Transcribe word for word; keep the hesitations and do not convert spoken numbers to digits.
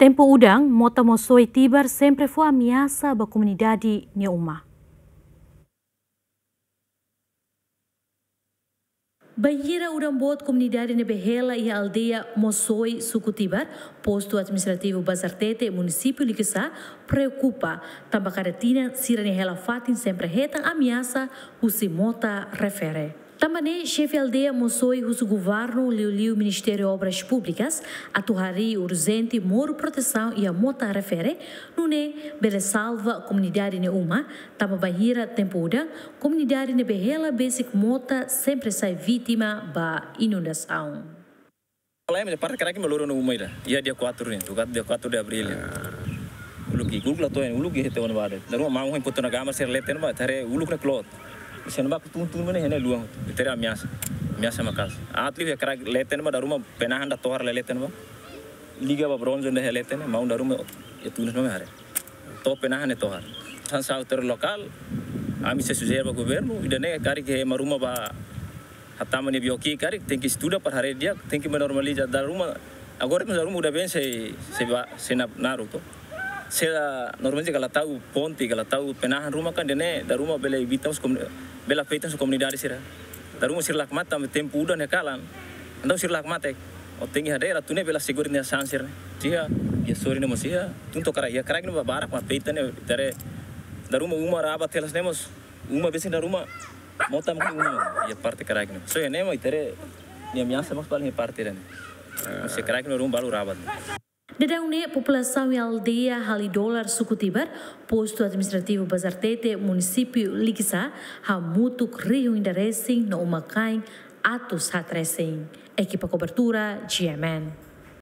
Tempu udan, mota Mosoi Tibar sempre fó ameasa ba komunidade nia uma. Bainhira udan boot, komunidade ne'ebé hela iha aldeia Mosoi, suku Tibar, postu administrativu Bazartete, munisípiu Likisá, preokupa, tanba kada tinan sira-nia hela-fatin sempre hetan ameasa husi mota refere. Tanba ne'e, xefe aldeia Mosoi husu governu, liuliu Ministériu Obras Públikas, atu harii urjente moru protesaun iha mota refere, nune'e bele salva komunidade nia uma, tanba bainhira tempu udan, komunidade ne'ebé hela besik mota sempre sai vítima ba inundasaun. Lae, maibé parte kraik ne'e loro ona uma ida. Iha dia quatro ne'e, tukat dia quatro de abril ne'e. Uluk ki'ik, uluk la to'o, uluk ki'ik hete ona bade. Dala ruma maun hein potu na gama sira leten ba, ita haree uluk ne'e kloot. Sira ne'ebá tun-tun ne'e iha ne'e luan. Ita haree ameasa. Ameasa maka'as. Aat liu iha kraik leten ba, dala ruma penahan ida tohar lai leten ba. Liga ba bronze ne'e iha leten, maun dala ruma iha tunas ba imi haree. To'o penahan ne'e tohar. Hanesan autóridade lokál, ami sei sujere ba governu, ida-ne'e karik ema ruma bá hatama nia bioki karik, tenke estuda para haree di'ak, tenke normaliza dala ruma. Agora mós dala ruma udan been sei, sei ba, sei na, naruk to. Se la normaliza, ka la tau ponte, ka la tau penahan ruma kan, ida-ne'e dala ruma bele evita mós komu-, bele afeta mós komunidade sira. Dala ruma sira la hakmatek, tempu udan ne'e kalan. Entaun sira la hakmatek. Ó tenke haree atu nune'e bele asegura nia sasán sira-ne'e. Sira, iha sorin ne'e mós iha, tun to'o kraik, iha kraik ne'e ba barak mak afeta ne'e, ita haree dala ruma uma rabat telas ne'e mós, uma besik dala ruma, mota maka uma, iha parte kraik ne'e. So, iha ne'e mak ita haree, nia ameasa mós paling iha parte ida-ne'e. Mós iha kraik ne'e ruma balu rabat. Daudaun ne'e, populasaun iha aldeia Halidolar, suku Tibar, postu administrativu Bazartete, munisípiu Likisá, hamutuk rihun ida resin no uma-kain atus haat resin. Ekipa kobertura, G M N.